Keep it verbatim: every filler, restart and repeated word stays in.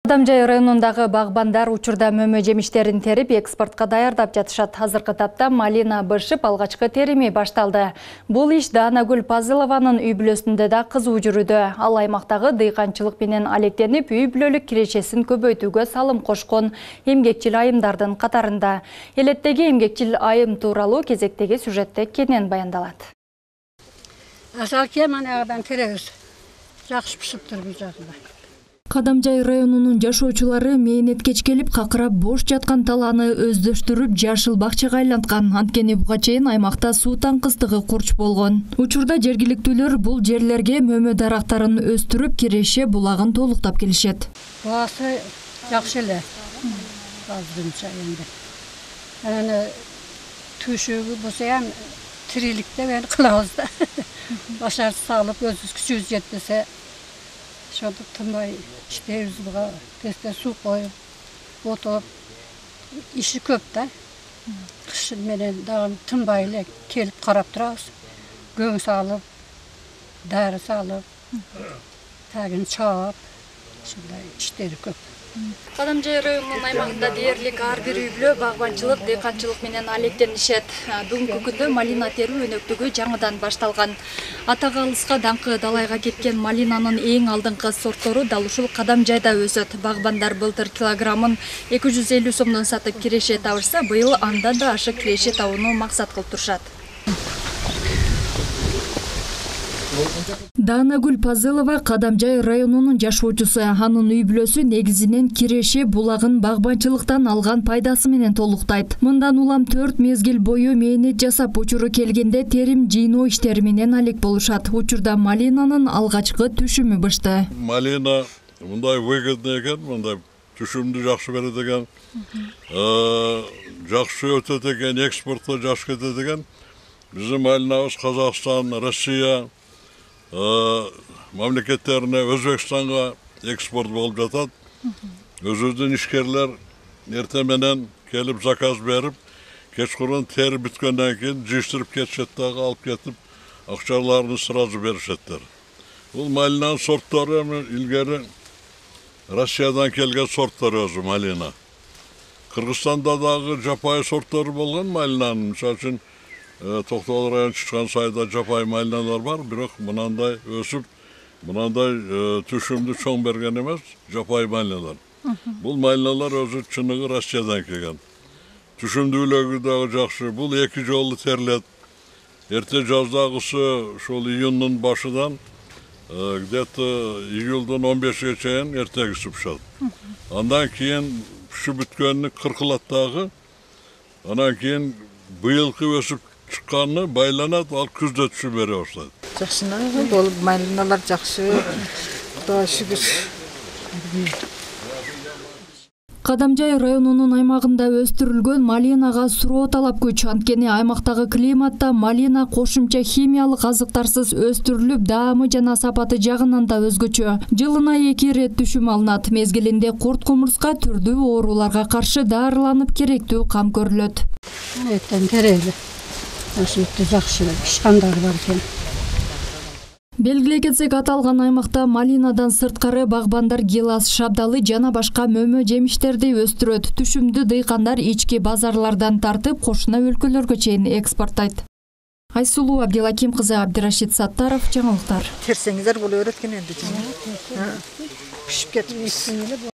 Кадамжай районундагы багбандар учурда мөмө жемиштерин терип экспортко даярдап жатышат. Азыркы тапта малина бышып алгачкы терими башталды. Бул иш Даанагүл Пазылованын үй бүлөсүндө да кызуу жүрүүдө. Ал аймактагы дыйканчылык менен алектенип, үй бүлөлүк кирешесин көбөйтүүгө салым кошкон эмгекчил айымдардын катарында. Элеттеги эмгекчил айым тууралуу кезектеги сюжетте кенен баяндалат. Асалке манагыдан теребиз. Жакшы пышыптыр бул жагында. Кадамжай районунун жашоочулары мээнеткеч келип какырап бош жаткан талааны өздөштүрүп жашыл бакчага айланткан. Анткени буга чейин аймакта суу таңкыстыгы курч болгон. Учурда жергиликтүүлөр бул жерлерге мөмө дарактарын өстүрүп киреше булагын толуктап келишет. Буасы жакшы эле. Азырынча энди. Анан түшүгү болсо ham тириликте мен кылабыз да. Башар салып өзүбүз күчүбүз жетпесе ошондо тынбай иштейбиз, буга тезде суу коюп, отоп, иши көп да. Кыш менен дагы тынбай эле келип карап турабыз. Көң салып, дары салып, тагын чаап, ушундай иштери көп. Кадамжай районунун аймагында дээрлик ар бир үй бүлө багбанчылык, дыйканчылык менен алектенишет. Бүгүнкү күндө малина терүү өнөктүгү жаңыдан башталган. Ата калыска даңкы далайга кеткен малинанын эң алдыңкы сорттору дал ушул Кадамжайда өсөт. Багбандар былтыр килограммын эки жүз элүү сомдон сатып киреше табышса, быйыл андан да ашык киреше табууну максат кылып турушат. Даанагүл Пазылова Кадамжай районунун жашоочусу. Анын үй бүлөсү негизинен киреше булагын багбанчылыктан алган пайдасы менен толуктайт. Мындан улам төрт мезгил бою мээнет жасап, учуру келгенде терим жыйноо иштери менен алек болушат. Учурда малинанын алгачкы түшүмү бышты. Малина мындай выгодный экен, мындай түшүмдү жакшы берет экен. Жакшы өтөт экен, экспортко жакшы кетет экен. Биздин малинабыз Казакстан, Россия мамлекеттерине, Өзбекстанга экспорт болуп жатат. Өзүбүздүн ишкерлер эртең менен келип заказ берип, кечкурун тери бүткөндөн кийин жыйыштырып кетишет дагы, алып кетип, акчаларын сразу беришеттер. Бул малинанын сорттору илгери Россиядан келген сорттор өзү малина. Кыргызстанда дагы жапайы сорттор болгон малинанын, мисалы үчүн Токтогул району чыккан сайда жапайы малиналар бар, бирок мынандай өсүп, мынандай түшүмдү чоң берген эмес, жапайы малиналар. Бул малиналар өзү чыныгы Россиядан келген. Түшүмдүүлүгү дагы жакшы. Бул эки жолу терилет. Эрте жаздагысы ушул июндун башынан где-то июлдун он бешиге чейин эртегиси пышат. Андан кийин пышып бүткөнү кыркылат дагы. Анан кийин быйылкы өсүп чыкканы байланат, ал күздө түшүп бере баштайт. Жакшы болуп, малиналар жакшы. Кудайга шүгүр. Кадамжай районунун аймагында өстүрүлгөн малинага суроо талап көч. Анткени аймактагы климатта малина кошумча химиялык азыктарсыз өстүрүлүп, даамы жана сапаты жагынан да өзгөчө. Жылына эки ирет түшүм алынат. Мезгилинде курт кумурска түрдүү ооруларга каршы дарыланып керектүү кам көрүлөт. Эттен терели. Ошентип жакшы ишкандар бар экен. Белгилей кетсек, аталган аймакта малинадан сырткары багбандар гилас, шабдалы жана башка мөмө жемиштерди өстүрөт. Түшүмдү дыйкандар ички базарлардан тартып, кошуна өлкөлөргө чейин экспорттайт. Айсулуу Абдилаким кызы, Абдирашид Саттаров, жаңылыктар. Терсеңиздер бул өрөткөн энди. Пишип кетип.